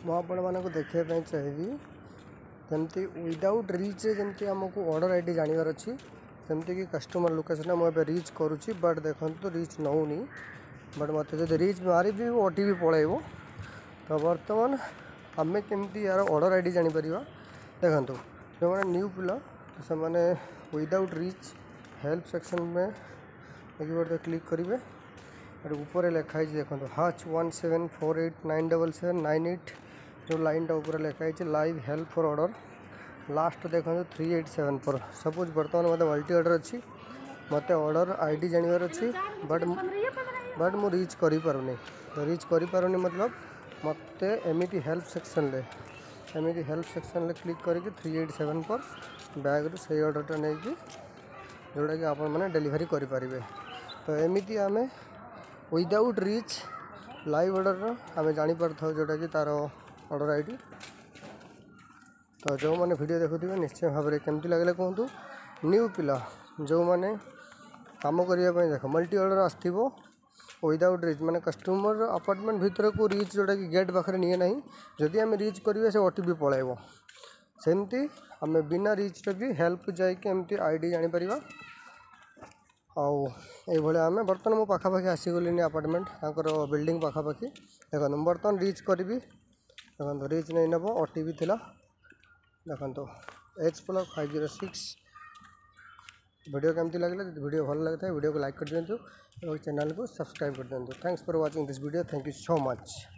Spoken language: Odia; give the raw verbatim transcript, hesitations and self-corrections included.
ମୁଁ ଆପଣମାନଙ୍କୁ ଦେଖାଇବା ପାଇଁ ଚାହିଁବି ଯେମିତି ୱିଦାଉଟ୍ ରିଚ୍ରେ ଯେମିତି ଆମକୁ ଅର୍ଡ଼ର I D ଜାଣିବାର ଅଛି ସେମିତିକି କଷ୍ଟମର୍ ଲୋକେସନ୍ରେ ମୁଁ ଏବେ ରିଚ୍ କରୁଛି ବଟ୍ ଦେଖନ୍ତୁ ରିଚ୍ ନେଉନି ବଟ୍ ମୋତେ ଯଦି ରିଚ୍ ମାରିବି ଓ ଟି ପି ପଳାଇବ ତ ବର୍ତ୍ତମାନ ଆମେ କେମିତି ୟାର ଅର୍ଡ଼ର I D ଜାଣିପାରିବା ଦେଖନ୍ତୁ ଯେଉଁମାନେ ନ୍ୟୁ ପିଲା ସେମାନେ ୱିଦାଉଟ୍ ରିଚ୍ ହେଲ୍ପ ସେକ୍ସନ୍ରେ ଦେଖିପାରୁଥିବେ କ୍ଲିକ୍ କରିବେ ଏଠି ଉପରେ ଲେଖା ହେଇଛି ଦେଖନ୍ତୁ hash one seven four eight nine double seven nine eight ଯେଉଁ ଲାଇନ୍ଟା ଉପରେ ଲେଖା ହେଇଛି live help for order last ଦେଖନ୍ତୁ three eight seven four suppose ବର୍ତ୍ତମାନ ମୋତେ ମଲ୍ଟି ଅର୍ଡ଼ର ଅଛି ମୋତେ ଅର୍ଡ଼ର I D ଜାଣିବାର ଅଛି ବଟ୍ ବଟ୍ ମୁଁ ରିଚ୍ କରିପାରୁନି ତ ରିଚ୍ କରିପାରୁନି ମତଲବ ମୋତେ ଏମିତି ହେଲ୍ପ ସେକ୍ସନ୍ରେ ଏମିତି ହେଲ୍ପ ସେକ୍ସନ୍ରେ କ୍ଲିକ୍ କରିକି ଥ୍ରୀ ଏଇଟ୍ ସେଭେନ୍ ଫୋର୍ ବ୍ୟାଗ୍ରୁ ସେଇ ଅର୍ଡ଼ରଟା ନେଇକି ଯେଉଁଟାକି ଆପଣମାନେ ଡେଲିଭରି କରିପାରିବେ ତ ଏମିତି ଆମେ ୱିଦାଉଟ୍ ରିଚ୍ ଲାଇଭ୍ ଅର୍ଡ଼ରର ଆମେ ଜାଣିପାରିଥାଉ ଯେଉଁଟାକି ତା'ର ଅର୍ଡ଼ର I D ତ ଯେଉଁମାନେ ଭିଡ଼ିଓ ଦେଖୁଥିବେ ନିଶ୍ଚୟ ଭାବରେ କେମିତି ଲାଗିଲା କୁହନ୍ତୁ ନ୍ୟୁ ପିଲା ଯେଉଁମାନେ କାମ କରିବା ପାଇଁ ଦେଖ ମଲ୍ଟି ଅର୍ଡ଼ର ଆସିଥିବ ୱିଦାଉଟ୍ ରିଚ୍ ମାନେ କଷ୍ଟମର୍ ଆପାର୍ଟମେଣ୍ଟ ଭିତରକୁ ରିଚ୍ ଯେଉଁଟାକି ଗେଟ୍ ପାଖରେ ନିଏ ନାହିଁ ଯଦି ଆମେ ରିଚ୍ କରିବା ସେ ଓ ଟି ପି ପଳାଇବ ସେମିତି ଆମେ ବିନା ରିଚ୍ରେ ବି ହେଲ୍ପ ଯାଇକି ଏମିତି I D ଜାଣିପାରିବା ଆଉ ଏଇଭଳିଆ ଆମେ ବର୍ତ୍ତମାନ ମୁଁ ପାଖାପାଖି ଆସିଗଲିଣି ଆପାର୍ଟମେଣ୍ଟ ତାଙ୍କର ବିଲ୍ଡିଂ ପାଖାପାଖି ଦେଖନ୍ତୁ ମୁଁ ବର୍ତ୍ତମାନ ରିଚ୍ କରିବି ଦେଖନ୍ତୁ ରିଚ୍ ନେଇ ନେବ ଓ ଟି ପି ଥିଲା ଦେଖନ୍ତୁ H block five zero six video କେମିତି ଲାଗିଲା ଯଦି ଭିଡ଼ିଓ ଭଲ ଲାଗିଥାଏ ଭିଡ଼ିଓକୁ ଲାଇକ୍ କରିଦିଅନ୍ତୁ ଏବଂ ଚ୍ୟାନେଲକୁ ସବସ୍କ୍ରାଇବ୍ କରିଦିଅନ୍ତୁ Thanks for watching this video thank you so much